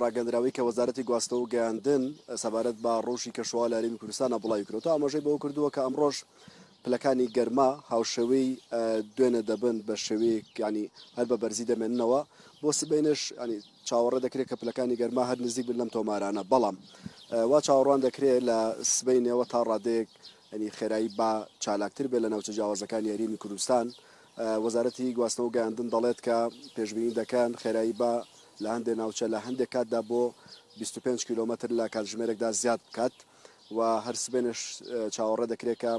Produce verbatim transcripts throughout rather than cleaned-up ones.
ڕاگەندراوەی کە وەزارەتی گواستنەوە و گەیاندن سەبارەت بە ڕەوشی کەشوهەوا لە هەرێمی کوردستانە بڵاوی کردووە، ئاماژەی بەوە کردووە کە ئەمڕۆژ پلەکانی گەرما هاوشێوەی دوێنێ دەبن بە شێوەیەک، ینی هەر بە بەرزی دەمێننەوە. بۆ سبەینێش ینی چاوەڕێ دەکرێت کە پلەکانی گەرما هەر نزیک بن لەم تۆمارانە، بەڵام وا چاوەڕوان دەکرێت لە سبەینێوە تا ڕادەیەک ینی خێرایی با چالاکتر بێت لە ناوچە جیاوازەکانی هەرێمی کوردستان. وەزارەتی گواستنەوە گەیاندن دەڵێت کە پێشبینی دەکەن خێرایی با لە هەندێک ناوچە لە هەندێک کاتدا بۆ بیست و پێنج کیلۆمەتر لە کاتژمێرێکدا زیاد بکات و هەر سبێنش چاوەڕێ دەکرێت کە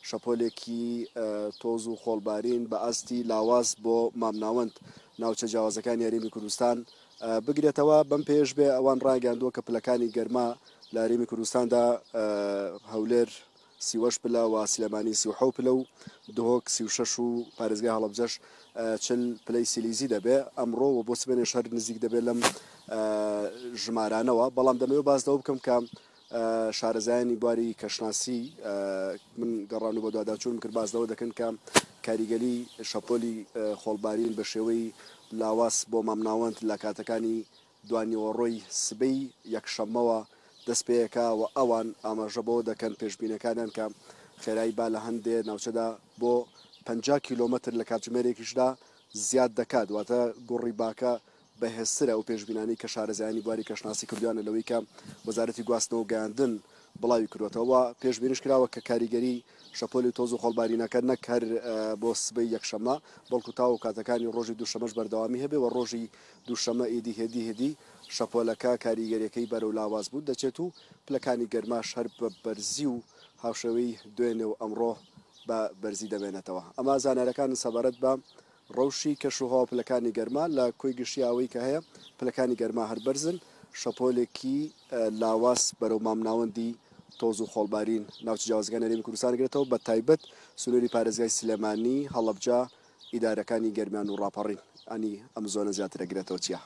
شەپۆلێکی تۆز و خۆڵبارین بە ئاستی لاواز بۆ مامناوەند ناوچە جیاوازەکانی هەرێمی کوردستان بگرێتەوە. بەم پێش بێ ئەوان ڕایگەیاندووە کە پلەکانی گەرما لە هەرێمی کوردستاندا هەولێر سی و هەشت پلە و سلێمانی سی و حەوت پلە و دهۆک سی و شەش و پارێزگای هەڵەبجەش چل پلەی سیلیزی دەبێ ئەمڕۆ و بۆ سبێنێش هەر نزیک دەبێت لەم ژمارانەوە. بەڵام دەمەوێت باس لەوە بکەم کە شارەزایانی بواری کەشناسی من گەڕان و بەدواداچوونم کرد باس لەوە دەکەن کە کاریگەری شەپۆلی خۆڵبارین بە شێوەی لاواز بۆ مامناوەند لە کاتەکانی دوانیوەڕۆی سبەی یەکشەممەوە دەست پێیەکە و ئەوان ئاماژە بەوە دەکەن پێشبینەکانیان کە خێرایی با لە هەندێ ناوچەدا بۆ پەنجا کیلۆمەتر لە کاتژمێرێکیشدا زیاد دەکات، واتە گوڕی باکە بەهێزترە. ئەو پێشبینانی کە شارەزایانی بواری کەشناسی کردویانە لەوەی کە وەزارەتی گواستنەوە گەیاندن بڵاوی کردوێتەوە، پێشبینیش کراوە کە کاریگەری شەپۆلی تۆز و خۆڵبارینەکە نەک هەر بۆ سبەی یەکشەممە بەڵکو تاو کاتەکانی ڕۆژی دووشەمەش بەردەوامی هەبێ و ڕۆژی دووشەممە ئیدی هێدی هێدی شەپۆلەکە کاریگەریەکەی بەرەو لاواز بوو دەچێت و پلەکانی گەرماش هەر بە بەرزی و هاوشێوەی دوێنێ و ئەمڕۆ بە بەرزی دەمێنێتەوە. ئەمە زانیارەکان سەبارەت بە ڕەوشی کەشوهەوا پلەکانی گەرما لە کۆی گشتی ئەوەی کە هەیە پلەکانی گەرما هەر بەرزن، شەپۆلێکی لاواز بەرەو مامناوەندی تۆز و خۆڵبارین ناوچە جیاوازەکانی هەرێمی کوردستان گرێتەوە، بە تایبەت سنووری پارێزگای سلێمانی، هەڵەبجە، ئیدارەکانی گەرمیان و ڕاپەڕین ئەنی ئەم زۆنە زیاترە گرێتەوە. چییە؟